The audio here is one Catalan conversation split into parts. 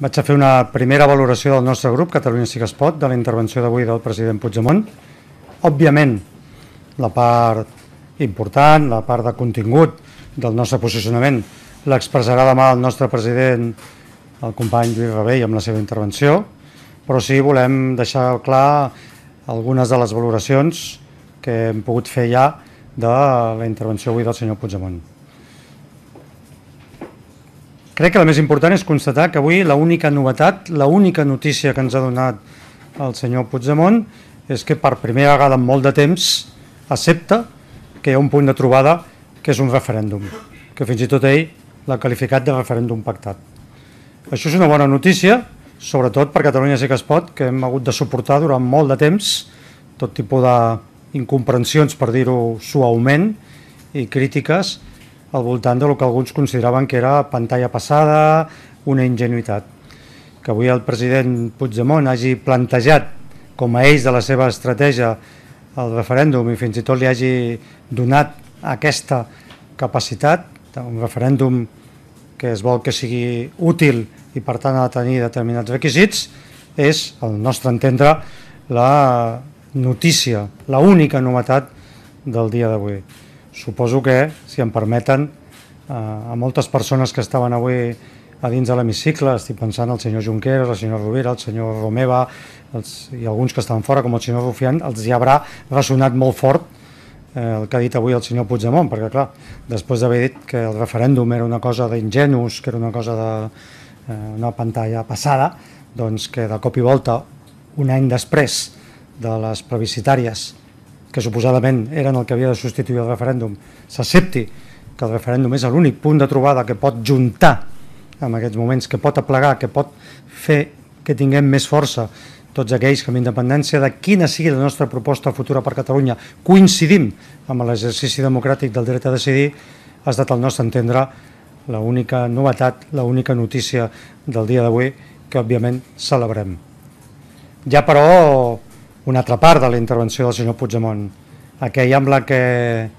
Vaig a fer una primera valoració del nostre grup, Catalunya Sí que es pot, de la intervenció d'avui del president Puigdemont. Òbviament, la part important, la part de contingut del nostre posicionament l'expressarà demà el nostre president, el company Lluís Rabell, amb la seva intervenció, però sí volem deixar clar algunes de les valoracions que hem pogut fer ja de la intervenció avui del senyor Puigdemont. Crec que la més important és constatar que avui l'única novetat, l'única notícia que ens ha donat el senyor Puigdemont és que per primera vegada en molt de temps accepta que hi ha un punt de trobada que és un referèndum, que fins i tot ell l'ha qualificat de referèndum pactat. Això és una bona notícia, sobretot per Catalunya Sí que es pot, que hem hagut de suportar durant molt de temps tot tipus d'incomprensions, per dir-ho suaument, i crítiques al voltant del que alguns consideraven que era pantalla passada, una ingenuïtat. Que avui el president Puigdemont hagi plantejat com a eix de la seva estratègia el referèndum i fins i tot li hagi donat aquesta capacitat, un referèndum que es vol que sigui útil i per tant ha de tenir determinats requisits, és, al nostre entendre, la notícia, l'única novetat del dia d'avui. Suposo que, si em permeten, a moltes persones que estaven avui a dins de l'hemicicle, estic pensant al senyor Junqueras, la senyora Rovira, el senyor Romeva i alguns que estaven fora, com el senyor Rufián, els hi haurà ressonat molt fort el que ha dit avui el senyor Puigdemont, perquè clar, després d'haver dit que el referèndum era una cosa d'ingenus, que era una cosa d'una pantalla passada, doncs que de cop i volta, un any després de les plebiscitàries, que suposadament eren el que havia de substituir el referèndum, s'accepti que el referèndum és l'únic punt de trobada que pot juntar en aquests moments, que pot aplegar, que pot fer que tinguem més força tots aquells que amb independència de quina sigui la nostra proposta futura per Catalunya coincidim amb l'exercici democràtic del dret a decidir, ha estat al nostre entendre l'única novetat, l'única notícia del dia d'avui que òbviament celebrem. Hi ha però una altra part de la intervenció del senyor Puigdemont, aquella amb la que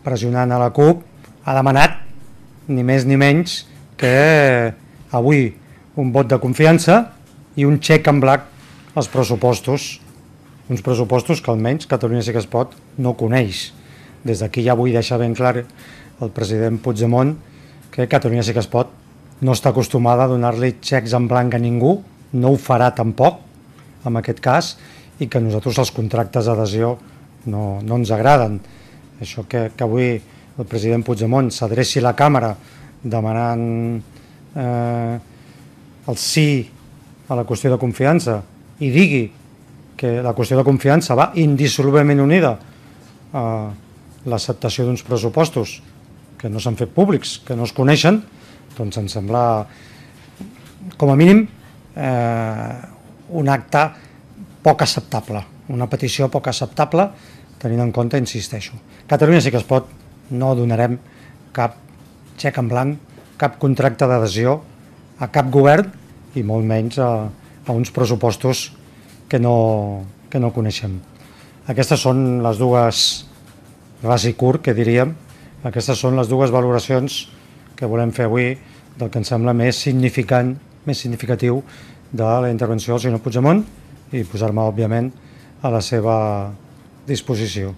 pressionant a la CUP ha demanat ni més ni menys que avui un vot de confiança i un xec en blanc als pressupostos, uns pressupostos que almenys Catalunya Sí que es pot no coneix. Des d'aquí ja vull deixar ben clar al president Puigdemont que Catalunya Sí que es pot no està acostumada a donar-li xecs en blanc a ningú, no ho farà tampoc en aquest cas, i que a nosaltres els contractes d'adhesió no ens agraden. Això que avui el president Puigdemont s'adreci a la càmera demanant el sí a la qüestió de confiança i digui que la qüestió de confiança va indissolublement unida a l'acceptació d'uns pressupostos que no s'han fet públics, que no es coneixen, doncs em sembla com a mínim un acte poc acceptable, una petició poc acceptable, tenint en compte, insisteixo, Catalunya Sí que es pot, no donarem cap xec en blanc, cap contracte d'adhesió a cap govern i molt menys a uns pressupostos que no coneixem. Aquestes són les dues, ras i curt, que diríem, aquestes són les dues valoracions que volem fer avui del que ens sembla més significant, més significatiu de la intervenció del senyor Puigdemont i posar-me, òbviament, a la seva disposició.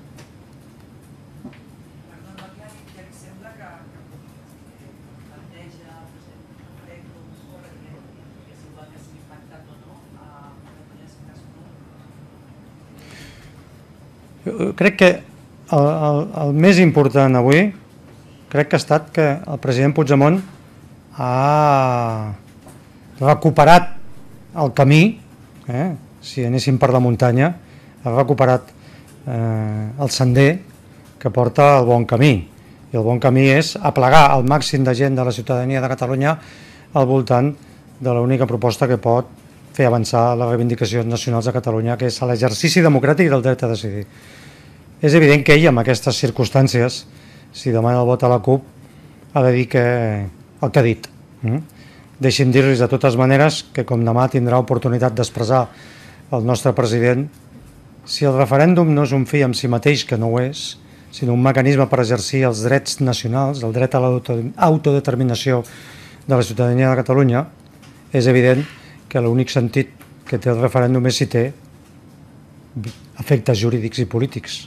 Crec que el més important avui crec que ha estat que el president Puigdemont ha recuperat el camí, si anéssim per la muntanya, ha recuperat el sender que porta al bon camí. I el bon camí és aplegar el màxim de gent de la ciutadania de Catalunya al voltant de l'única proposta que pot fer avançar les reivindicacions nacionals de Catalunya, que és l'exercici democràtic del dret a decidir. És evident que ell, en aquestes circumstàncies, si demana el vot a la CUP, ha de dir el que ha dit. Deixi'm dir-los de totes maneres que com demà tindrà oportunitat d'expressar el nostre president, si el referèndum no és un fi en si mateix, que no ho és, sinó un mecanisme per exercir els drets nacionals, el dret a l'autodeterminació de la ciutadania de Catalunya, és evident que l'únic sentit que té el referèndum és si té efectes jurídics i polítics.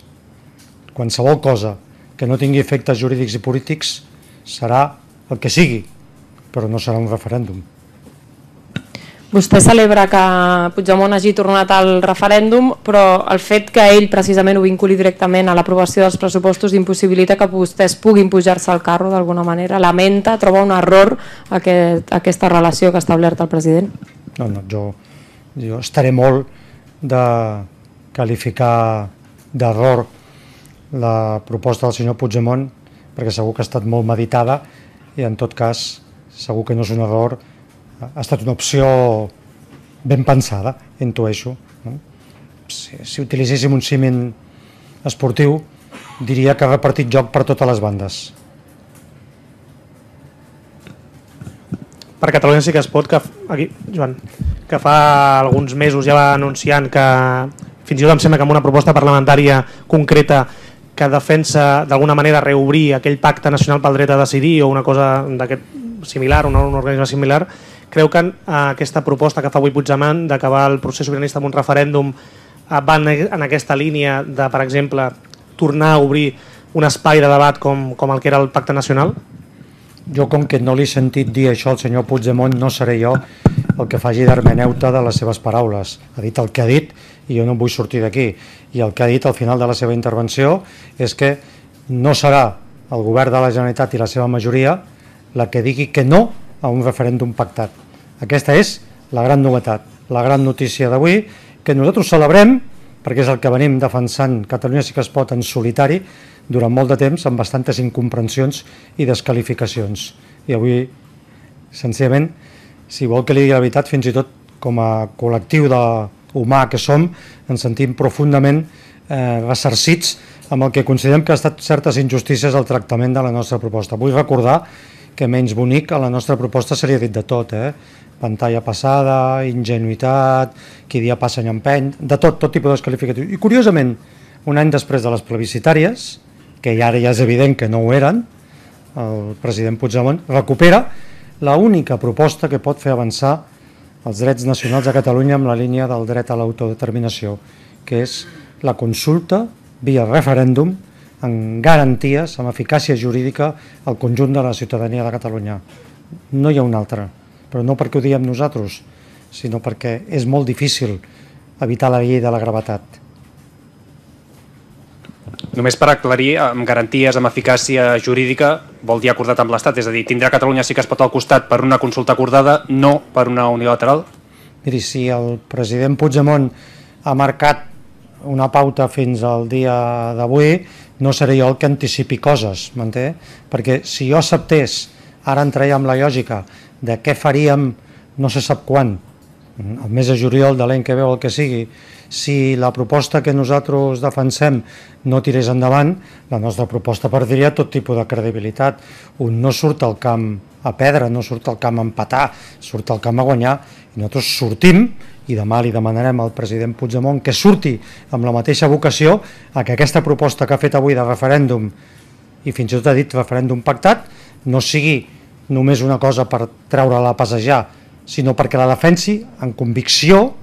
Qualsevol cosa que no tingui efectes jurídics i polítics serà el que sigui, però no serà un referèndum. Vostè celebra que Puigdemont hagi tornat al referèndum, però el fet que ell precisament ho vinculi directament a l'aprovació dels pressupostos impossibilita que vostès puguin pujar-se al carro d'alguna manera. Lamenta, troba un error aquesta relació que ha establert el president? No, jo estaré molt de qualificar d'error la proposta del senyor Puigdemont, perquè segur que ha estat molt meditada i en tot cas segur que no és un error, ha estat una opció ben pensada, intueixo. Si utilitzéssim un símil esportiu, diria que ha repartit joc per totes les bandes. Per Catalunya sí que es pot, aquí, Joan, que fa alguns mesos ja va anunciant que, fins i tot em sembla que amb una proposta parlamentària concreta que defensa d'alguna manera reobrir aquell pacte nacional pel dret a decidir o una cosa d'aquest similar, un organisme similar, creu que aquesta proposta que fa avui Puigdemont d'acabar el procés sobiranista amb un referèndum va en aquesta línia de, per exemple, tornar a obrir un espai de debat com el que era el pacte nacional? Jo, com que no li he sentit dir això al senyor Puigdemont, no seré jo el que faci d'hermeneuta de les seves paraules. Ha dit el que ha dit i jo no vull sortir d'aquí. I el que ha dit al final de la seva intervenció és que no serà el govern de la Generalitat i la seva majoria la que digui que no a un referèndum pactat. Aquesta és la gran novetat, la gran notícia d'avui, que nosaltres celebrem, perquè és el que venim defensant Catalunya sí que es pot en solitari durant molt de temps, amb bastantes incomprensions i desqualificacions. I avui, senzillament, si vol que li digui la veritat, fins i tot com a col·lectiu humà que som, ens sentim profundament ressarcits amb el que considerem que ha estat certes injustícies al tractament de la nostra proposta. Vull recordar que menys bonic a la nostra proposta seria dit de tot, pantalla passada, ingenuïtat, qui dia passa any empeny, de tot tipus de desqualificatius. I curiosament, un any després de les plebiscitàries, que ara ja és evident que no ho eren, el president Puigdemont recupera l'única proposta que pot fer avançar els drets nacionals de Catalunya amb la línia del dret a l'autodeterminació, que és la consulta via referèndum amb garanties, amb eficàcia jurídica al conjunt de la ciutadania de Catalunya. No hi ha un altre, però no perquè ho diem nosaltres, sinó perquè és molt difícil evitar la llei de la gravetat. Només per aclarir, amb garanties, amb eficàcia jurídica, vol dir acordat amb l'Estat, és a dir, tindrà Catalunya sí que es pot al costat per una consulta acordada, no per una unilateral? Miri, si el president Puigdemont ha marcat una pauta fins al dia d'avui, no seré jo el que anticipi coses, m'entén? Perquè si jo acceptés, ara entraria amb la lògica de què faríem no se sap quan, el mes de juliol de l'any que ve o el que sigui, si la proposta que nosaltres defensem no tirés endavant, la nostra proposta perdria tot tipus de credibilitat. Un no surt al camp a perdre, no surt al camp a empatar, surt al camp a guanyar, i nosaltres sortim, i demà li demanarem al president Puigdemont que surti amb la mateixa vocació a que aquesta proposta que ha fet avui de referèndum, i fins i tot ha dit referèndum pactat, no sigui només una cosa per treure-la a passejar, sinó perquè la defensi amb convicció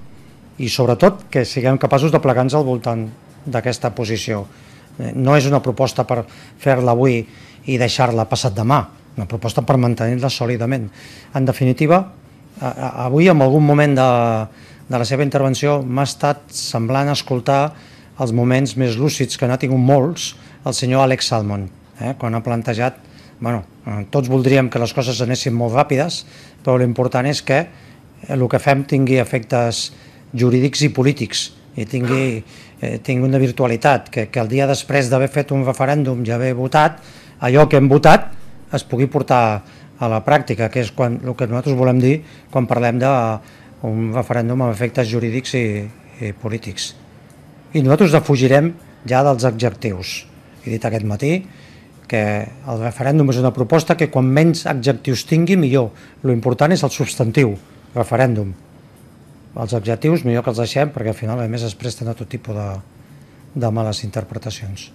i sobretot que siguem capaços de plegar-nos al voltant d'aquesta posició. No és una proposta per fer-la avui i deixar-la passat demà, una proposta per mantenir-la sòlidament. En definitiva, avui en algun moment de la seva intervenció m'ha estat semblant escoltar els moments més lúcids, que n'ha tingut molts, el senyor Alex Salmond, quan ha plantejat, tots voldríem que les coses anessin molt ràpides, però l'important és que el que fem tingui efectes jurídics i polítics i tingui una virtualitat, que el dia després d'haver fet un referèndum i haver votat, allò que hem votat es pugui portar a la pràctica, que és el que nosaltres volem dir quan parlem d'un referèndum amb efectes jurídics i polítics. I nosaltres defugirem ja dels adjectius. He dit aquest matí que el referèndum és una proposta que quan menys adjectius tingui, millor. L'important és el substantiu, referèndum. Els adjectius millor que els deixem perquè al final a més es presten a tot tipus de males interpretacions.